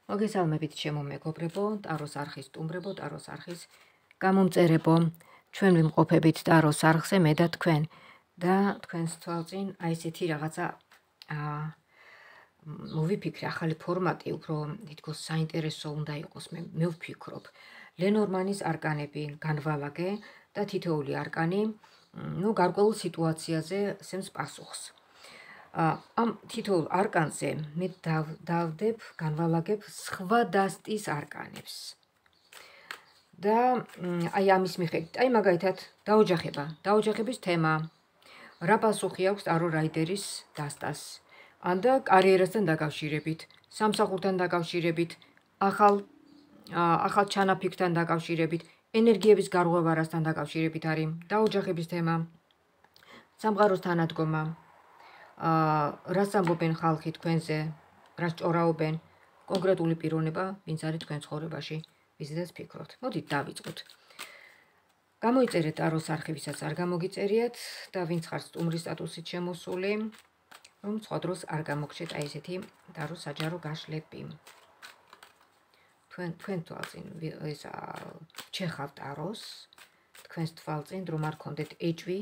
მოგესალმებით ჩემო მეგობრებო, ტაროს არხის სტუმრებო, ტაროს არხის გამომწერებო. ჩვენ ვიმყოფებით ტაროს არხზე მე და თქვენ და თქვენს თვალწინ აი ესეთი რაღაცა მოვიფიქრე, ახალი ფორმატი, უფრო თითქოს საინტერესო უნდა იყოს, მე ვფიქრობ. ლენორმანის არკანები განვალაგე და თითოეული არკანი, გარკვეულ სიტუაციაზე სცემს პასუხს. ამ თითოეულ არკანზე მე დავდებ, განვალაგებ სხვა დასტის არკანებს. და აი ამის მიხედვით, აი მაგალითად, დაოჯახების თემა. რა პასუხი აქვს ტარო რაიდერის დასტას? ანდა კარიერასთან დაკავშირებით, სამსახურთან დაკავშირებით, ახალ ჩანაფიქრთან დაკავშირებით, ენერგიების გარღვევარასთან დაკავშირებით არის დაოჯახების თემა, სამყაროს თანადგომა. რას ამბობენ ხალხი თქვენზე, რას ჭორაობენ, კონკრეტული პიროვნება, ვინც არის თქვენ ცხოვრებაში, ვიზედაც ფიქრობთ. მოდით დავიწყოთ. გამოიწერეთ ტაროს არხი, ვისაც არ გამოგიწერიათ და ვინც ხარ სტუმრის სტატუსით შემოსული, რომ სხვა დროს არ გამოგჩეთ აი ესეთი ტაროს საჯარო გაშლები. თქვენ თვალწინ ჩეხავ ტაროს, თქვენს თვალწინ რომ არ გქონდეთ ეჭვი,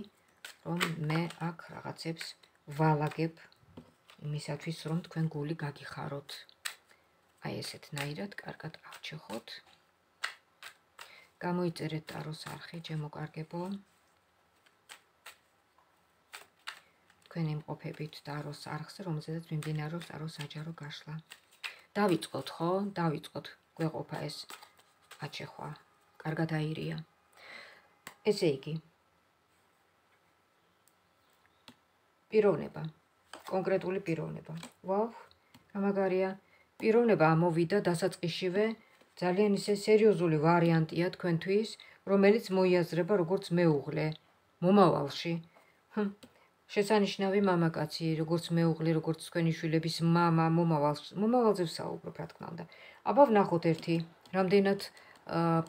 რომ მე აქ რაღაცებს ვალაგებ იმისათვის, რომ თქვენ გული გაგიხაროთ. აი ესეთნაირად, კარგად ავჩეხოთ. გამოიწერეთ ტაროს არხი, ჩემო კარგებო. თქვენ იმყოფებით ტაროს არხზე, რომელზედაც მიმდინარეობს ტაროს საჯარო გაშლა. დავიწყოთ, ხო? დავიწყოთ. გვეყოფა ეს აჩეხვა. კარგად აირია. ესე იგი, პიროვნება, კონკრეტული პიროვნება. ვაუ, გამაგარია. პიროვნება ამოვიდა დასაწყისშივე, ძალიან ისე სერიოზული ვარიანტია თქვენთვის, რომელიც მოიაზრება როგორც მეუღლე მომავალში. შესანიშნავი მამაკაცი, როგორც მეუღლე, როგორც თქვენი შვილების მამა, მომავალზე ვსაუბრობ, რა თქმა უნდა. აბა ვნახოთ ერთი, რამდენად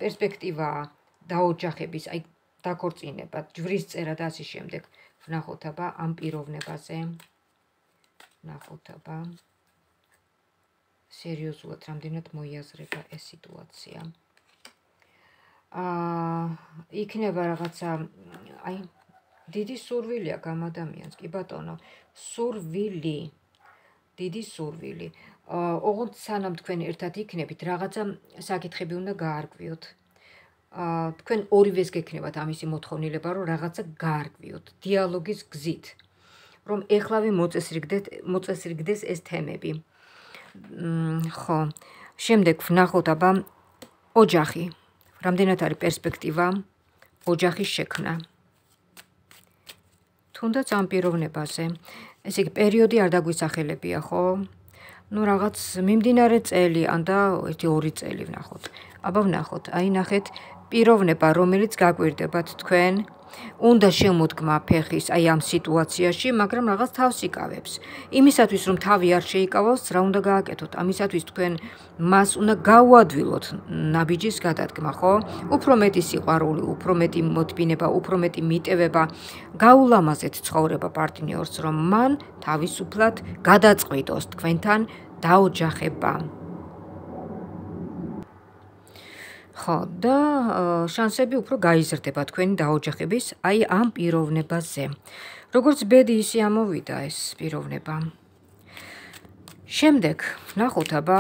პერსპექტივაა დაოჯახების, აი დაქორწინება, ჯვრისწერა და ასე შემდეგ. ვნახოთ აბა ამ პიროვნებაზე. ვნახოთ აბა სერიოზულად რამდენად მოიაზრება ეს სიტუაცია. იქნება რაღაცა, აი დიდი სურვილი აქვს ამ ადამიანს, კი ბატონო, სურვილი, დიდი სურვილი. ოღონდ სანამ თქვენ ერთად იქნებით, რაღაცა საკითხები უნდა გაარკვიოთ. თქვენ ორივეს გექნებათ ამისი მოთხოვნილება, რომ რაღაცა გაარკვიოთ, დიალოგის გზით, რომ ეხლავე მოწესრიგდეს ეს თემები. ხო, შემდეგ ვნახოთ აბა ოჯახი. რამდენად არის პერსპექტივა ოჯახის შექმნა. თუნდაც ამ პიროვნებაზე. ესე იგი, პერიოდი არ დაგვისახელებია, ხო? რაღაც მიმდინარე წელი, ანდა 1-2 წელი ვნახოთ. აბა ვნახოთ, აი ნახეთ, პიროვნება, რომელიც გაკვირდებათ თქვენ, უნდა შემოდგმა ფეხის აი ამ სიტუაციაში, მაგრამ რაღაც თავს იკავებს. იმისათვის, რომ თავი არ შეიკავოს, რა უნდა გააკეთოთ? ამისათვის თქვენ მას უნდა გაუადვილოთ ნაბიჯის გადადგმა, ხო? უფრო მეტი სიყვარული, უფრო მეტი მოთმინება, უფრო მეტი მიტევება, გაულამაზეთ ცხოვრება პარტნიორს, რომ მან თავისუფლად გადაწყვიტოს თქვენთან დაოჯახება. ხო, და შანსები უფრო გაიზრდება თქვენი დაოჯახების აი ამ პიროვნებაზე. როგორც ბედი ისე ამოვიდა ეს პიროვნება. შემდეგ ვნახოთ აბა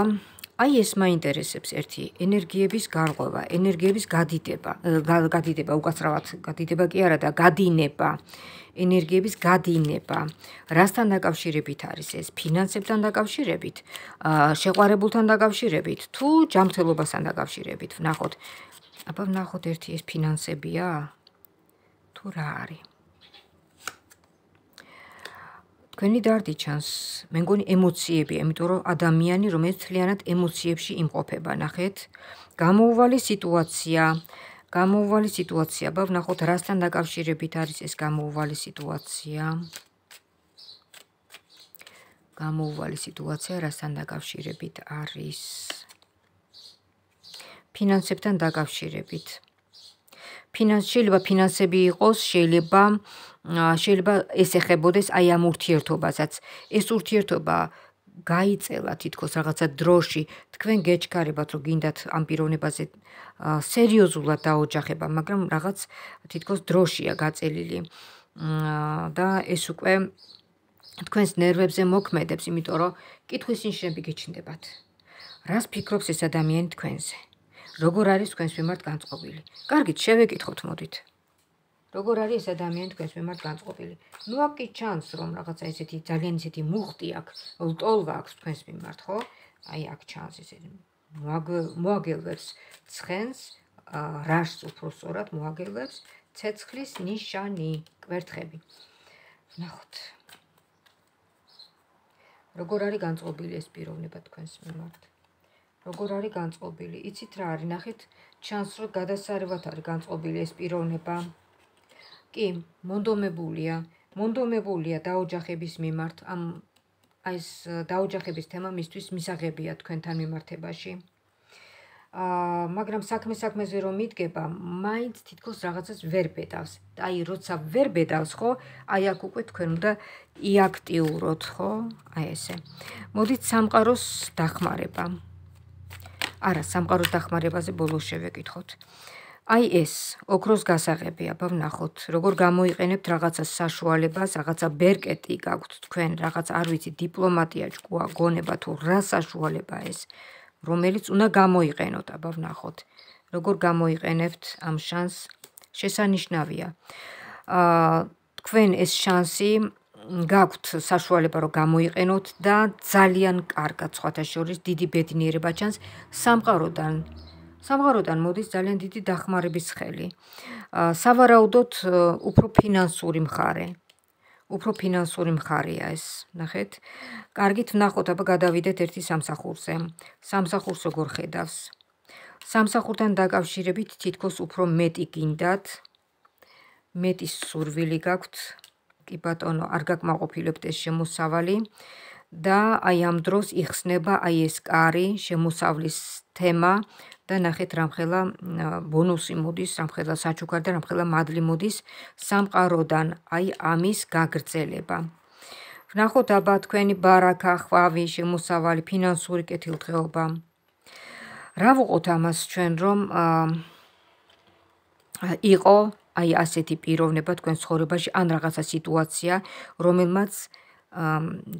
აი ეს მაინტერესებს ერთი ენერგიების გარღვევა, ენერგიების გადიდება, უკაცრავად გადიდება კი არა და გადინება. ენერგიების გადინება. რასთან დაკავშირებით არის ეს? ფინანსებთან დაკავშირებით, შეყვარებულთან დაკავშირებით, თუ ჯანმრთელობასთან დაკავშირებით. ვნახოთ. აბა ვნახოთ ერთი ეს ფინანსებია? თუ რა არის? თქვენი დარდი ჩანს, მე მგონი ემოციებია, იმიტომ რომ ადამიანი, რომელიც მთლიანად ემოციებში იმყოფება, ნახეთ, გამოუვალი სიტუაცია, აბა ვნახოთ რასთან დაკავშირებით არის ეს გამოუვალი სიტუაცია. გამოუვალი სიტუაცია რასთან დაკავშირებით არის? ფინანსებთან დაკავშირებით. შეიძლება ფინანსები იყოს, შეიძლება ეს ეხებოდეს აი ამ ურთიერთობასაც. ეს ურთიერთობა გაიწელა თითქოს რაღაცა დროში, თქვენ გეჩქარებათ, რომ გინდათ ამ პიროვნებაზე სერიოზულად დაოჯახება, მაგრამ რაღაც თითქოს დროშია გაწელილი და ეს უკვე თქვენს ნერვებზე მოქმედებს, იმიტომ რომ კითხვის ნიშნები გიჩნდებათ. რას ფიქრობს ეს ადამიანი თქვენზე? როგორ არის თქვენს მიმართ განწყობილი? კარგით, შევეკითხოთ, მოდით. როგორ არის ეს ადამიანი თქვენს მიმართ განწყობილი? ნუ აქ კი ჩანს, რომ რაღაცა ესეთი ძალიან ისეთი მუხტი აქვს, ლტოლვა აქვს თქვენს მიმართ, ხო? აი აქ ჩანს ესეთი მოაგელვებს ცხენს, რაშს უფრო სწორად მოაგელვებს ცეცხლის ნიშანი, კვერთხები. ნახოთ. როგორ არის განწყობილი ეს პიროვნება თქვენს მიმართ? როგორ არის განწყობილი? იცით რა არის? ნახეთ, ჩანს, რომ გადასარევად არის განწყობილი ეს პიროვნება. კი, მონდომებულია დაოჯახების მიმართ. ეს დაოჯახების თემა მისთვის მისაღებია თქვენთან მიმართებაში. მაგრამ საქმეზე რომ მიდგება, მაინც თითქოს რაღაცას ვერ ბედავს. აი, როცა ვერ ბედავს, ხო? აი აქ უკვე თქვენ უნდა იაქტიუროთ, ხო? აი ესე. მოდით სამყაროს დახმარება. არა, სამყაროს დახმარებაზე ბოლოს შევეკითხოთ. აი ეს, ოქროს გასაღები, აბა ვნახოთ, როგორ გამოიყენებთ რაღაცას საშუალებას, რაღაცა ბერკეტი გაქვთ თქვენ, რაღაც არ ვიცი, დიპლომატია, ჭკუა, გონება თუ რა საშუალება ეს, რომელიც უნდა გამოიყენოთ, აბა ვნახოთ. როგორ გამოიყენებთ ამ შანსს? შესანიშნავია. თქვენ ეს შანსი გაქვთ საშუალება რომ გამოიყენოთ და ძალიან კარგად სხვათა შორის დიდი ბედნიერება ჩანს სამყაროდან მოდის ძალიან დიდი დახმარების ხელი. სავარაუდოდ უფრო ფინანსური მხარეა ეს, ნახეთ. კარგით ვნახოთ, აბა გადავიდეთ ერთი სამსახურზე. სამსახურს როგორ ხედავს? სამსახურთან დაკავშირებით თითქოს უფრო მეტი გინდათ, მეტი სურვილი გაქვთ. კი ბატონო, არ გაკმაყოფილებთ ეს შემოსავალი და აი ამ დროს იხსნება აი ეს კარი, შემოსავლის თემა და ნახეთ რამხელა ბონუსი მოდის, რამხელა საჩუქარი და რამხელა მადლი მოდის სამყაროდან, აი ამის გაგრძელება. ვნახოთ აბა თქვენი ბარაქა, ხვავი, შემოსავალი, ფინანსური კეთილდღეობა. რა ვუყოთ ამას ჩვენ, რომ იყო აი ასეთი პიროვნება თქვენ ცხოვრებაში ან რაღაცა სიტუაცია, რომელმაც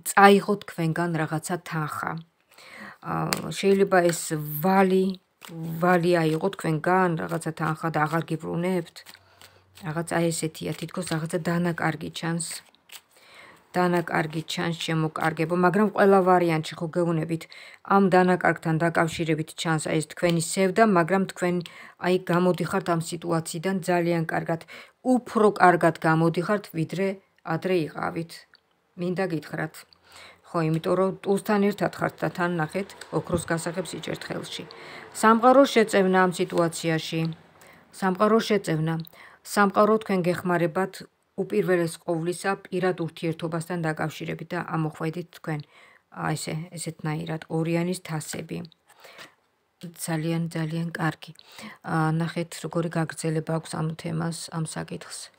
წაიღო თქვენგან რაღაცა თანხა. შეიძლება ეს ვალი აიღო თქვენგან რაღაცა თანხა და აღარ გიბრუნებთ. რაღაცა ესეთია, თითქოს რაღაცა დანაკარგი ჩანს. დანაკარგი ჩანს შემოკარგებო, მაგრამ ყველა ვარიანტში ხო გეუბნებით, ამ დანაკარგთან დაკავშირებით ჩანს აი ეს თქვენი სევდა, მაგრამ თქვენ აი გამოდიხართ ამ სიტუაციიდან ძალიან კარგად, უფრო კარგად გამოდიხართ, ვიდრე ადრე იყავით. მინდა გითხრათ. ხო, იმიტომ რომ ტუსთან ერთად ხართ და თან ნახეთ, ოქროს გასაღებს იჭერთ ხელში. სამყაროს შეწევნა ამ სიტუაციაში. სამყარო თქვენ გეხმარებათ უპირველეს ყოვლისა პირად ურთიერთობასთან დაკავშირებით და ამოხვედით თქვენ ესეთნაირად ორიანის თასები. ძალიან კარგი. ნახეთ როგორი გაგრძელება აქვს ამ თემას, ამ საკითხს.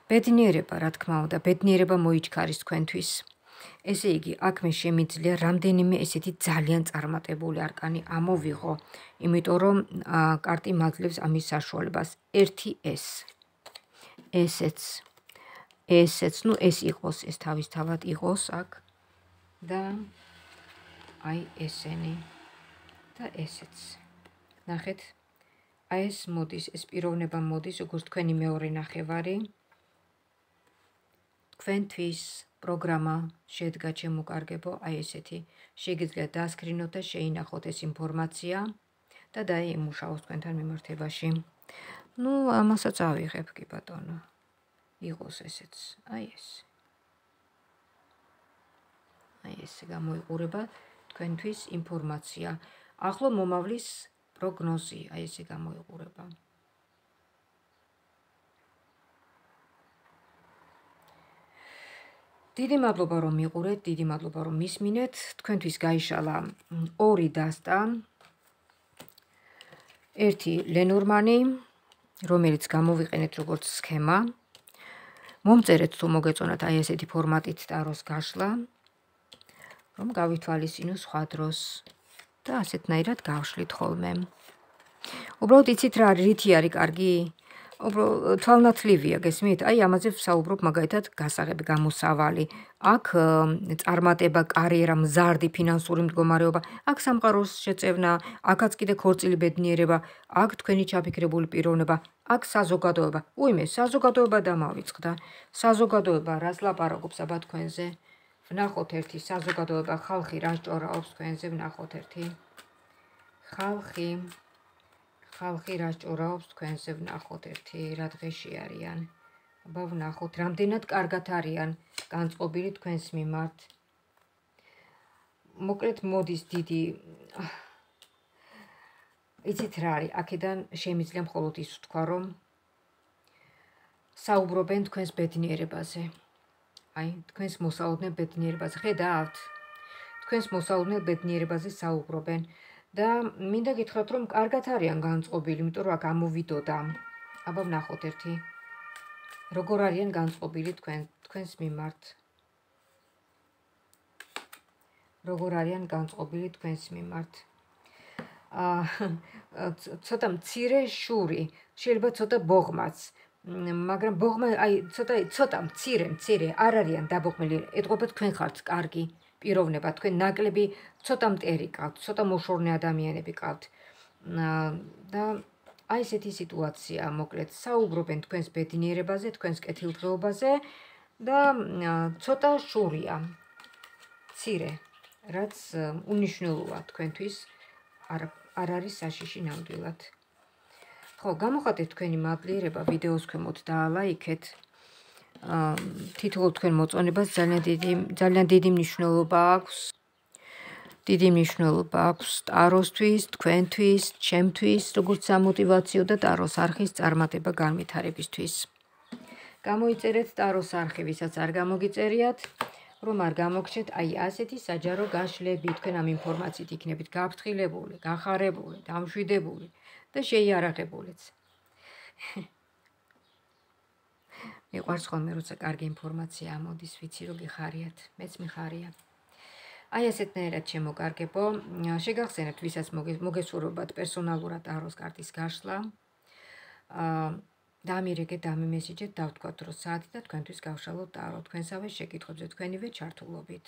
ბედნიერება, რა თქმა უნდა, ბედნიერება მოიჩქარის თქვენთვის. ესე იგი, აქ მე შემიძლია რამდენიმე ესეთი ძალიან წარმატებული არკანი ამოვიღო, იმიტომ რომ კარტი მაძლევს ამის საშუალებას. ერთი ესეც, ნუ ეს იყოს, ეს თავისთავად იყოს აქ და აი ესენი და ესეც. ნახეთ, აი ეს მოდის, ეს პიროვნება მოდის, როგორც თქვენი მეორე ნახევარი. თქვენთვის პროგრამა შედგა ჩემოკარგებო, აი ესეთი. შეგიძლიათ დაასკრინოთ და შეინახოთ ეს ინფორმაცია და დაიმუშაოთ თქვენთან მიმართებაში. ნუ ამასაც ავიღებ, კი ბატონო. იყოს ესეც, აი ეს. აი ესე გამოიყურება თქვენთვის ინფორმაცია. ახლო მომავლის პროგნოზი, აი ესე გამოიყურება. დიდი მადლობა რომ მიყურეთ, დიდი მადლობა რომ მისმინეთ. თქვენთვის გაიშალა ორი დასტა. ერთი ლენორმანი, რომელიც გამოვიყენეთ როგორც სქემა. მომწერეთ თუ მოგეწონათ აი ესეთი ფორმატით ტაროს გაშლა. რომ გავითვალისწინო სხვა დროს და ასეთნაირად გავშლით ხოლმე. უბრალოდ იცით რა რითი არის კარგი? უბრალოდ თვალნათლივია, გესმით? აი ამაზე ვსაუბრობ მაგალითად გასაღები, გამოსავალი. აქ წარმატება, კარიერა, მზარდი ფინანსური მდგომარეობა, აქ სამყაროს შეწევნა, აქაც კიდე ქორწილი ბედნიერება, აქ თქვენი ჩაფიქრებული პიროვნება, აქ საზოგადოება. უიმე, საზოგადოება დამავიწყდა. საზოგადოება რას ლაპარაკობს აბა თქვენზე? ვნახოთ ერთი საზოგადოება, ხალხი რას ჭორაობს თქვენზე, ვნახოთ ერთი. ხალხი რას ჭორაობს თქვენზე, ვნახოთ ერთი, რა დღეში არიან. აბა ვნახოთ, რამდენად კარგად არიან განწყობილი თქვენს მიმართ. მოკლედ მოდის დიდი იცით რა არის, აქედან შემიძლია მხოლოდ ის ვთქვა, რომ საუბრობენ თქვენს ბედნიერებაზე. აი, თქვენს მოსალოდნელ ბედნიერებაზე. ხედავთ? თქვენს მოსალოდნელ ბედნიერებაზე საუბრობენ. და მინდა გითხრათ, რომ კარგად არიან განწყობილი, იმიტომ რომ აქ ამოვიდოდა. აბა ვნახოთ ერთი. როგორ არიან განწყობილი თქვენს მიმართ. როგორ არიან განწყობილი თქვენს მიმართ. ცოტა მცირე შური, შეიძლება ცოტა ბოღმაც, მაგრამ ბოღმა აი ცოტა მცირე არ არიან დაბოღმილი, ეტყობა თქვენ ხართ კარგი პიროვნება, თქვენ ნაკლები ცოტა მტერი ყავთ, ცოტა მოშორნე ადამიანები ყავთ. და აი ესეთი სიტუაცია, მოკლედ საუბრობენ თქვენს ბედნიერებაზე, თქვენს კეთილდღეობაზე და ცოტა შურია. მცირე, რაც უნიშნელოა თქვენთვის არ არის საშიში ნამდვილად. ხო, გამოხატეთ თქვენი მადლიერება ვიდეოს ქვემოთ და ლაიქეთ. თითოეულ თქვენ მოწონებას ძალიან დიდი მნიშვნელობა აქვს. დიდი მნიშვნელობა აქვს ტაროსთვის, თქვენთვის, ჩემთვის, როგორც სამოტივაციო და ტაროს არხის წარმატება განვითარებისთვის. გამოიწერეთ ტაროს არხი, ვისაც არ გამოგიწერიათ, რომ არ გამოგჩეთ, აი ასეთი საჯარო გაშლები, თქვენ ამ ინფორმაციით იქნებით გაფრთხილებული, გახარებული, დამშვიდებული და შეიარაღებულიც. მიყვარს ხოლმე, როცა კარგი ინფორმაცია ამოდის, ვიცი რომ გიხარიათ, მეც მიხარია. აი ასეთნაირად შემოგარგებო, შეგახსენებთ, ვისაც მოგესურვებათ პერსონალურად ტაროს კარტის გაშლა. დამირეკეთ, დამიმესიჯეთ, დავთქვათ რომ საათი და თქვენთვის გავშალოთ ტარო, თქვენსავე შეკითხვებზე თქვენივე ჩართულობით.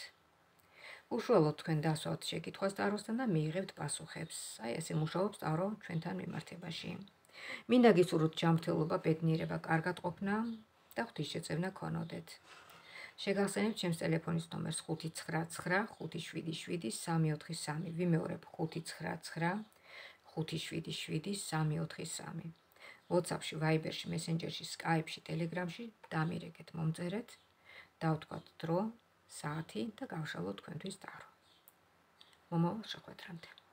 უშუალოდ თქვენ დასვათ შეკითხვას ტაროსთან და მიიღებთ პასუხებს. აი ესე მუშაობს ტარო ჩვენთან მიმართებაში. მინდა გისურვოთ ჯანმრთელობა, ბედნიერება, კარგად ყოფნა და ღვთისშეწევნა ქონოდეთ. შეგახსენებთ ჩემს ტელეფონის ნომერს 599 577 343. ვიმეორებ 599 577 343. WhatsApp-ში, Viber-ში, Messenger-ში, Skype-ში, Telegram-ში დამირეკეთ, მომწერეთ, დავთქვათ დრო, საათი და გავშალოთ თქვენთვის ტარო. მომავალ შეხვედრამდე.